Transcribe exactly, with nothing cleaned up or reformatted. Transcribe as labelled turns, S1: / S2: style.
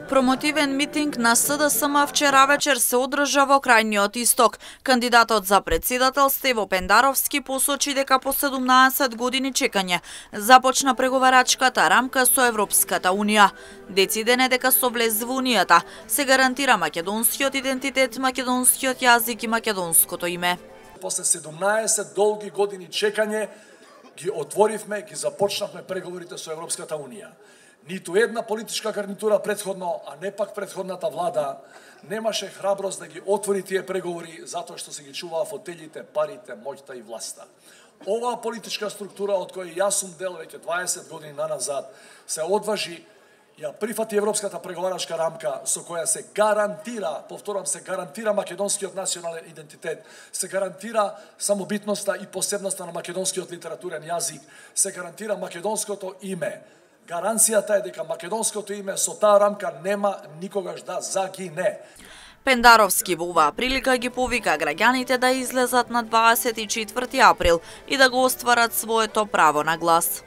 S1: Промотивен митинг на С Д С М вчера вечер се одржа во крајниот исток. Кандидатот за председател Стево Пендаровски посочи дека по седумнаесет години чекање започна преговарачката рамка со Европската Унија. Дециден е дека со влез во Унијата се гарантира македонскиот идентитет, македонскиот јазик и македонското име.
S2: После седумнаесет долги години чекање ги отворивме, ги започнавме преговорите со Европската Унија. Ниту една политичка гарнитура предходно, а не пак предходната влада, немаше храброст да ги отвори тие преговори затоа што се ги чуваа фотелите, парите, моќта и власта. Оваа политичка структура од која јас сум дел веќе дваесет години наназад се одважи, ја прифати Европската преговарачка рамка со која се гарантира, повторам, се гарантира македонскиот национален идентитет, се гарантира самобитноста и посебноста на македонскиот литературен јазик, се гарантира македонското име. Гаранцијата е дека македонското име со таа рамка нема никогаш да загине.
S1: Пендаровски во оваа прилика ги повика граѓаните да излезат на дваесет и четврти април и да го остварат своето право на глас.